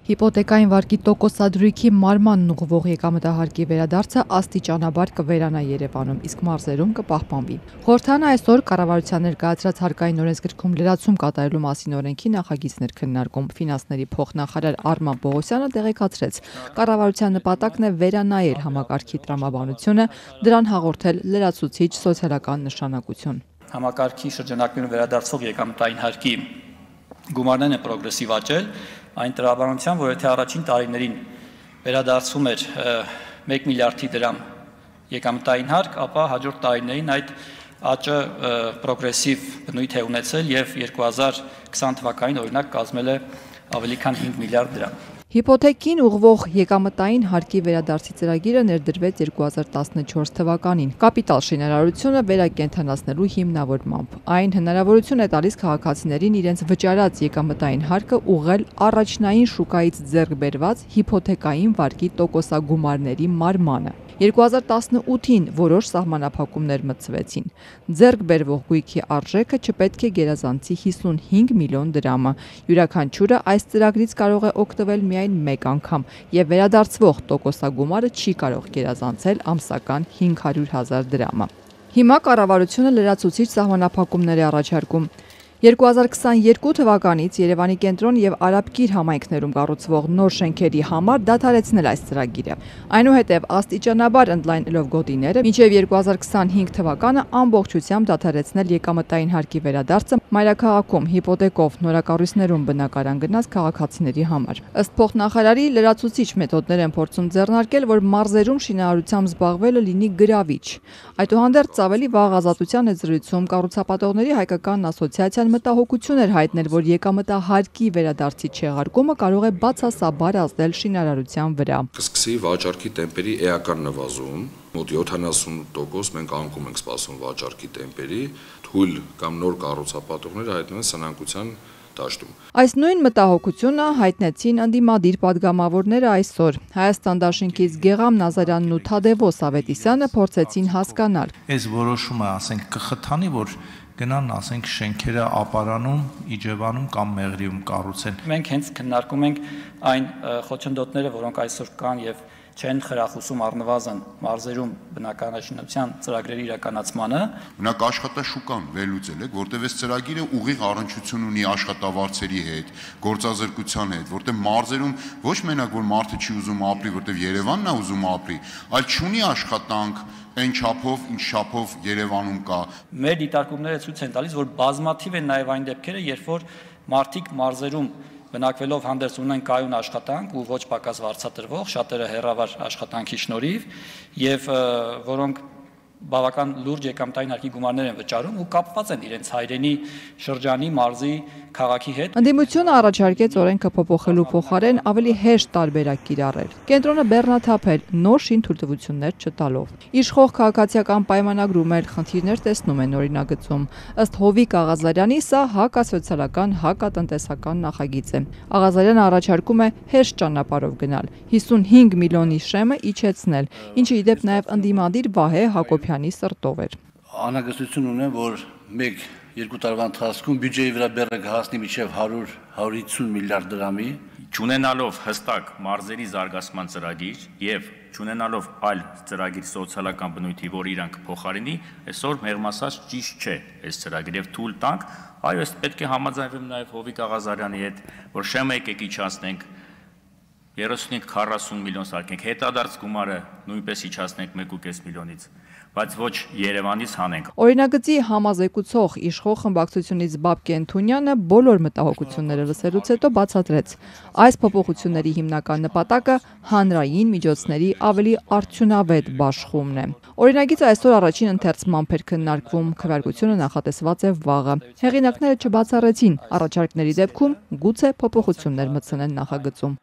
Հիպոթեկային վարկի տոկոսադրույքի մարմանն ուղղվող եկամտահարկի վերադարձը աստիճանաբար կվերանա Երևանում, իսկ մարզերում կպահպանվի։ Խորհրդարանը այսօր կառավարության ներկայացրած հարկային օրենսգրքում լրացում կատարելու մասին օրենքի նախագիծներ քննարկում։ Ֆինանսների փոխնախարար Արման Պողոսյանը տեղեկացրեց, կառավարության նպատակն է վերանայել համակարգի տրամաբանությունը, դրան հաղորդել լրացուցիչ սոցիալական նշանակություն։ Համակարգի շրջանակներում վերադարձող եկամտային հարկի գումարներն են պրոգրեսիվ աճել, այն տրամաբանությամբ, որ եթե առաջին տարիներին վերադարձում էր 1 միլիարդի դրամ եկամտային հարկ, ապա հաջորդ տարիներին այդ աճը պրոգրեսիվ բնույթ է ունեցել եւ 2020 թվականին օրինակ կազմել է ավելի քան 5 միլիարդ դրամ։ Հիպոթեկին ուղղվող եկամտային հարկի վերադարձի ծրագիրը ներդրվեց 2014 թվականին կապիտալ շինարարությունը վերակենդանացնելու հիմնավորմամբ։ Այն հնարավորություն է տալիս քաղաքացիներին իրենց վճարած եկամտային հարկը ուղղել առաջնային շուկայից ձեռք բերված հիպոթեկային վարկի տոկոսագումարների մարմանը։ 2018-ին որոշ սահմանափակումներ մտցվեցին։ Ձեռք բերվող գույքի արժեքը չպետք է գերազանցի 55 միլիոն դրամը։ Յուրաքանչյուրը այս ծրագրից կարող է օգտվել միայն մեկ անգամ եւ վերադարձվող տոկոսագումարը չի կարող գերազանցել ամսական 500,000 դրամը։ Հիմա կառավարությունը լրացուցիչ սահմանափակումներ է առաջարկում։ 2022 թվականից Երևանի կենտրոն եւ Արաբկիր համայնքներում կառուցվող նոր շենքերի համար դադարեցնել այս ծրագիրը։ Այնուհետև աստիճանաբար ընդլայնելով գոտիները, մինչև 2025 թվականը ամբողջությամբ դադարեցնել եկամտային հարկի վերադարձը մայրաքաղաքում հիպոթեկով նորակառույցներում բնակարան գնած քաղաքացիների համար։ Ըստ փոխնախարարի, լրացուցիչ մեթոդներ են փորձում ձեռնարկել, որ մարզերում շինարարությամբ զբաղվելը լինի գրավիչ։ Այդուհանդերձ ավելի վաղ Ազատության եզրույցում կառուցապատողների հայկական ասոցիացիան մտահոգություն էր հայտնել, որ եկամտահարկի վերադարձի չեղարկումը կարող է բացասաբար ազդել շինարարության վրա։ Կսկսի վաճառքի տեմպերի էական նվազում, մոտ 70% մենք անկում ենք սպասում վաճառքի տեմպերի, թույլ կամ նոր կառուցապատողները հայտնում են սնանկության դաշտում։ Այս նույն մտահոգությունը հայտնեցին ընդդիմադիր падգամավորները այսօր։ Հայաստան դաշինքից Գեգամ Նազարյանն ու Թադևոս Ավետիսյանը փորձեցին հասկանալ։ Այս որոշումը, ասենք, կխթանի, որ գնան, ասենք, շենքերը ապարանում, Իջևանում կամ Մեղրիում կառուցեն։ Մենք հենց քննարկում ենք այն խոչընդոտները, որոնք այսօր կան եւ չեն խրախուսում առնվազն մարզերում բնակարանաշինության ծրագրերի իրականացմանը։ Մենակ աշխատաշուկան վերլուծել եք, որտեղ այս ծրագիրը ուղիղ առնչություն ունի աշխատավարձերի հետ, գործազրկության հետ, որտեղ մարզերում ոչ մենակ որ մարդը չի ուզում ապրի, որտեղ Երևանն է ուզում ապրի, այլ չունի աշխատանք այն չափով, ինչ չափով Երևանում կա։ Մեր դիտարկումները ցույց են տալիս, որ բազմաթիվ են նաև այն դեպքերը, երբ որ մարդիկ մարզերում բնակվելով հանդերձ ունեն կայուն աշխատանք ու ոչ պակաս վարձատրվող, շատերը հեռավար աշխատանքի շնորհիվ եւ որոնք բավական լուրջ եկամտային հարկի գումարներ են վճարում ու կապված են իրենց հայրենի շրջանի, մարզի, քաղաքի հետ։ Ընդդիմությունը առաջարկեց օրենքը փոփոխելու փոխարեն ավելի հեշտ տարբերակ կիրառել։ Կենտրոնը բեռնաթափել նոր շինթույլտվություններ չտալով։ Իշխող քաղաքացիական պայմանագրում էլ խնդիրներ տեսնում են օրինագծում։ Ըստ Հովիկ Աղազարյանի, սա հակասոցիալական, հակատնտեսական նախագիծ է։ Աղազարյանը առաջարկում է հեշտ ճանապարհով գնալ, 55 միլիոնի շեմը իջեցնել, ինչը ի դեպ նաև ընդդիմադիր Վահե Հակոբյանի սրտով էր։ Անհագստություն ունեմ, որ 1-2 տարվա ընթացքում բյուջեի վրա բեռը կհասնի մինչև 100-150 միլիարդ դրամի։ Չունենալով հստակ մարզերի զարգացման ծրագիր եւ չունենալով այլ ծրագիր սոցիալական բնույթի, որ իրան կփոխարինի, այսօր մեղմ ասած ճիշտ չէ այս ծրագիրը եւ թույլ տանք, այո, ես պետք է համաձայնվեմ նաեւ Հովիկ Աղազարյանի հետ, որ շեմը եկեք իջացնենք 35-40 միլիոն սարքենք, հետադարձ գումարը նույնպես իջացնենք 1.5 միլիոնից, բայց ոչ Երևանից հանենք։ Օրինագծի համազեկուցող իշխող խմբակցությունից Բաբկեն Թունյանը բոլոր մտահոգությունները լսելուց հետո բացատրեց. այս փոփոխությունների հիմնական նպատակը հանրային միջոցների ավելի արդյունավետ բաշխումն է։ Օրինագիծը այսօր առաջին ընթերցմամբ էր քննարկվում, քվեարկությունը նախատեսված է վաղը։ Հեղինակները չբացառեցին առաջարկների դեպքում գուցե փոփոխություններ մտցնեն նախագծում։